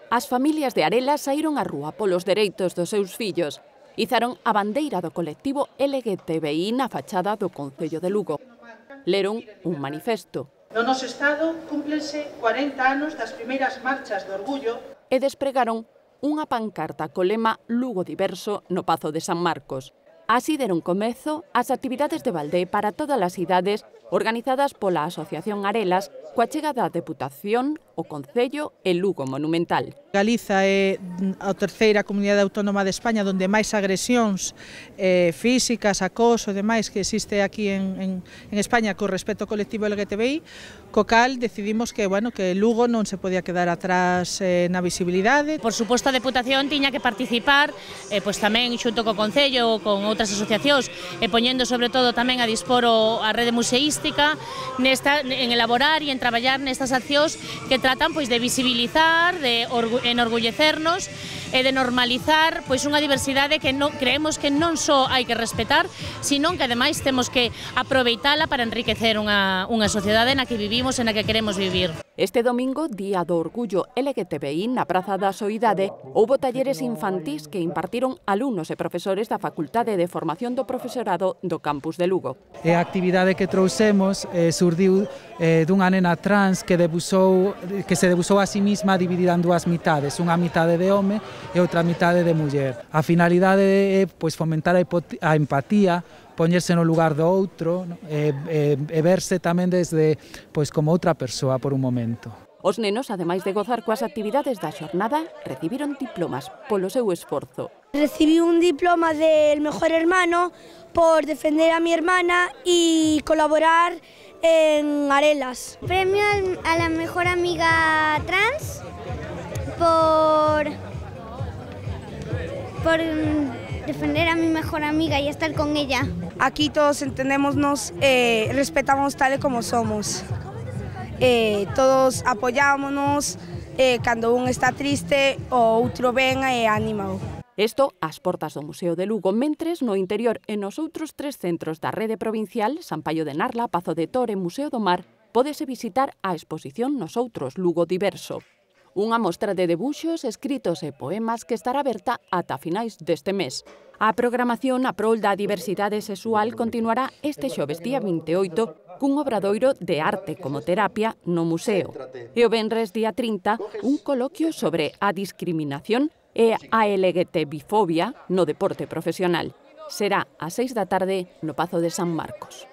As familias de Arelas saíron á rúa polos dereitos dos seus fillos. Izaron a bandeira do colectivo LGTBI na fachada do Concello de Lugo. Leron un manifesto. No noso Estado cúmplense 40 anos das primeiras marchas de orgullo E despregaron unha pancarta co lema Lugo Diverso no Pazo de San Marcos. Así deron comezo ás actividades de balde para todas as idades organizadas pola Asociación Arelas coa chegada da Deputación, o Concello e Lugo Monumental. Galiza é a terceira comunidade autónoma de España onde máis agresións físicas, acoso e demais que existe aquí en España con respecto ao colectivo LGTBI, co cal decidimos que Lugo non se podía quedar atrás na visibilidade. Por suposto, a Deputación tiña que participar tamén xunto co Concello ou con outras asociacións e poñendo sobre todo tamén a dispor a rede museística en elaborar e en traballar nestas accións que tratan de visibilizar, de enorgullecernos e de normalizar unha diversidade que creemos que non só hai que respetar, sino que ademais temos que aproveitala para enriquecer unha sociedade na que vivimos e na que queremos vivir. Este domingo, Día do Orgullo LGTBI, na Praza da Soidade, houbo talleres infantís que impartiron alumnos e profesores da Facultade de Formación do Profesorado do campus de Lugo. E a actividade que trouxemos surdiu dunha nena trans que se debusou a sí mesma dividida en dúas mitades, unha mitade de home e outra mitade de muller. A finalidade é fomentar a empatía, poñerse no lugar do outro e verse tamén desde como outra persoa por un momento. Os nenos, ademais de gozar coas actividades da xornada, recibiron diplomas polo seu esforzo. Recibí un diploma del mejor hermano por defender a mi hermana y colaborar en Arelas. Premio a la mejor amiga trans por defender a mi mejor amiga y estar con ella. Aquí todos entendémonos, respetamos tal y como somos. Todos apoyámonos cando un está triste o outro venga e ánimo. Isto ás portas do Museo de Lugo, mentres no interior e nos outros 3 centros da rede provincial, San Paio de Narla, Pazo de Tor e Museo do Mar, pódese visitar a exposición Nos Outros Lugo Diverso. Unha mostra de debuxos, escritos e poemas que estará aberta ata finais deste mes. A programación a prol da diversidade sexual continuará este xoves día 28 cun obradoiro de arte como terapia no museo. E o venres día 30 un coloquio sobre a discriminación e a LGTBifobia no deporte profesional. Será ás 6 da tarde no Pazo de San Marcos.